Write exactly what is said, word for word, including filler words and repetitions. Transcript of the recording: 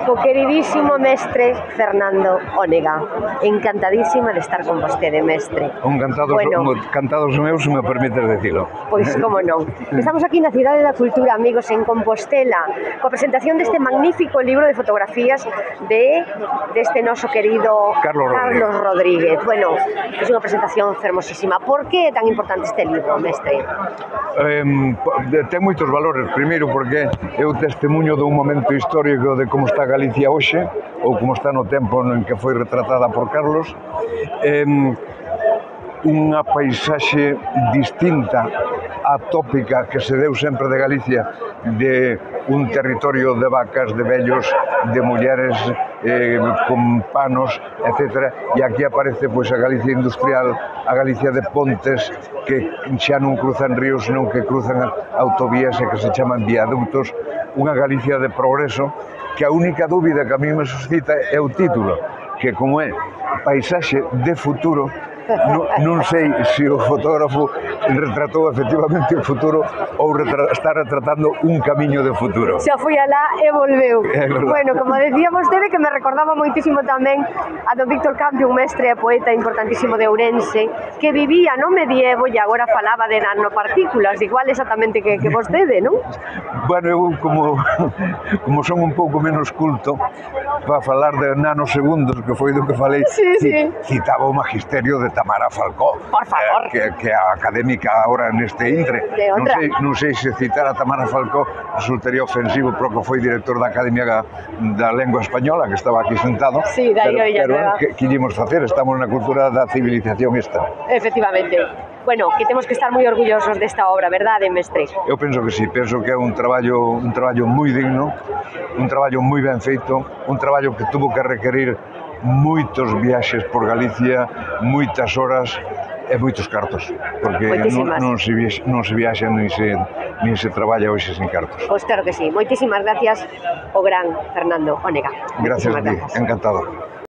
co queridísimo mestre Fernando Ónega. Encantadísima de estar con vostede, mestre. Encantados, bueno, cantados meus, se me permites decilo. Pois, como non. Estamos aquí na Cidade da Cultura, amigos, en Compostela, coa presentación deste magnífico libro de fotografías de deste noso querido Carlos, Carlos Rodríguez. Bueno, é unha presentación fermosísima. Por que é tan importante este libro, mestre? Eh, ten moitos valores. Primeiro, porque é o testemunho dun momento histórico de como está Galicia hoxe, ou como está no tempo en que foi retratada por Carlos. Eh, unha paisaxe distinta, atópica, que se deu sempre de Galicia, de un territorio de vacas, de vellos, de mulleres eh, con panos, etcétera. E aquí aparece pois, a Galicia industrial, a Galicia de pontes, que xa non cruzan ríos, senón que cruzan autovías e que se chaman viaductos. Unha Galicia de progreso, que a única dúbida que a mí me suscita é o título, que como é paisaxe de futuro, non, non sei se o fotógrafo retratou efectivamente o futuro ou retra está retratando un camiño de futuro. Xa foi alá e volveu. Bueno, como decía vostede, que me recordaba moitísimo tamén a don Víctor Campi, un mestre e poeta importantísimo de Ourense, que vivía no medievo e agora falaba de nanopartículas, igual exactamente que, que vostede, non? Bueno, eu como, como son un pouco menos culto, para falar de nanosegundos, que foi do que falei, sí, sí. Citaba o magisterio de Tamara Falcó, por favor, eh, que, que a académica agora neste intre. Non sei, non sei se citar a Tamara Falcó resultaría ofensivo, porque foi director da Academia da Lengua Española, que estaba aquí sentado. Sí, pero, pero que, que íamos facer? Estamos na cultura da civilización esta. Efectivamente. Bueno, que temos que estar moi orgullosos desta obra, verdade, mestre? Eu penso que sí, penso que é un traballo un traballo moi digno, un traballo moi ben feito, un traballo que tuvo que requerir moitos viaxes por Galicia, moitas horas e moitos cartos, porque non, non, se viaxa, non se viaxa nin se, nin se traballa hoxe sin cartos. Pois claro que sí. Moitísimas gracias ao gran Fernando Ónega. Gracias a ti, encantado.